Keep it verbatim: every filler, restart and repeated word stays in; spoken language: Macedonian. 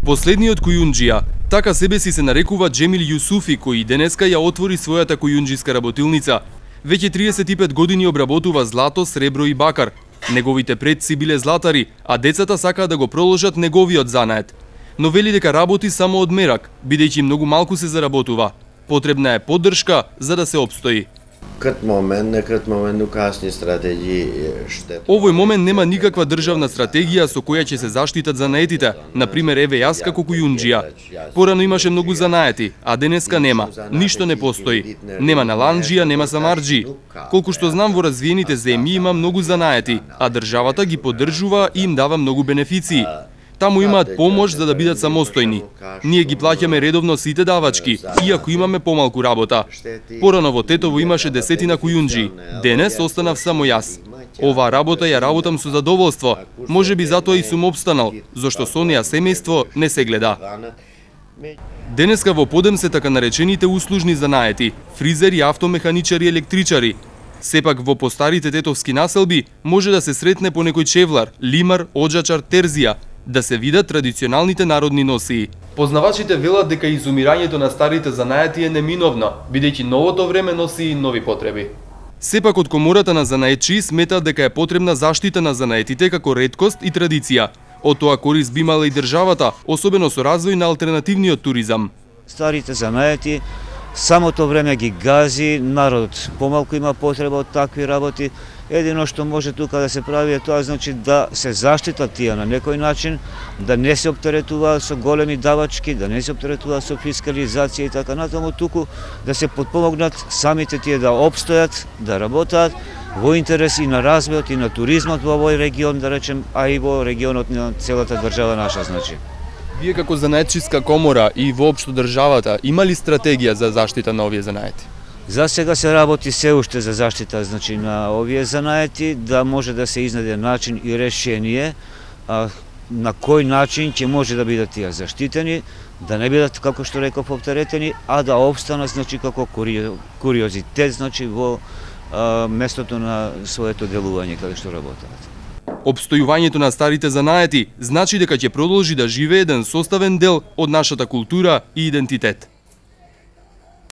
Последниот кујунџија, така себе си се нарекува Џемил Јусуфи, кој денеска ја отвори својата кујунџиска работилница. Веќе триесет и пет години обработува злато, сребро и бакар. Неговите предци биле златари, а децата сакаат да го проложат неговиот занает. Но вели дека работи само од мерак, бидејќи многу малку се заработува. Потребна е поддршка за да се опстои. Кат момент, не кат момент у касни стратегии ште... Овој момент нема никаква државна стратегија со која ќе се заштитат занаетите. Например, еве јас како кујунџија. Порано имаше многу занаети, а денеска нема. Ништо не постои. Нема наланџија, нема самарџи. Колку што знам, во развиените земји има многу занаети, а државата ги поддржува и им дава многу бенефиции. Таму имаат помош за да бидат самостојни. Ние ги плаќаме редовно сите давачки, иако имаме помалку работа. Порано во Тетово имаше десетина кујунџи. Денес останав само јас. Оваа работа ја работам со задоволство. Можеби затоа и сум опстанал, зашто со неа семејство не се гледа. Денеска во подем се така наречените услужни занаети, фризери, автомеханичари, електричари. Сепак во постарите тетовски населби може да се сретне по некој чевлар, лимар, оджачар, терзија, да се видат традиционалните народни носии. Познавачите велат дека изумирањето на старите занаети е неминовно, бидејќи новото време носи и нови потреби. Сепак од Комората на занаетчии сметаат дека е потребна заштита на занаетите како реткост и традиција. Од тоа корист би имала и државата, особено со развој на алтернативниот туризам. Старите занаети самото време ги гази, народот помалку има потреба од такви работи. Едино што може тука да се прави е тоа, значи да се заштитат тие на некој начин, да не се оптеретуваат со големи давачки, да не се оптеретуваат со фискализација и така натаму, туку да се подпомогнат самите тие да опстојат, да работат во интерес и на развојот и на туризмот во овој регион, да речем, а и во регионот на целата држава наша, значи. Вие како занаетчиска комора и воопшто државата, има ли стратегија за заштита на овие занаети? За сега се работи се уште за заштита, значи, на овие занаети, да може да се изнајде начин и решение а, на кој начин ќе може да бидат тие заштитени, да не бидат, како што реков, оптеретени, а да опстанат, значи, како куриозитет, значи, во а, местото на своето делување каде што работат. Опстојувањето на старите занаети значи дека ќе продолжи да живее еден составен дел од нашата култура и идентитет.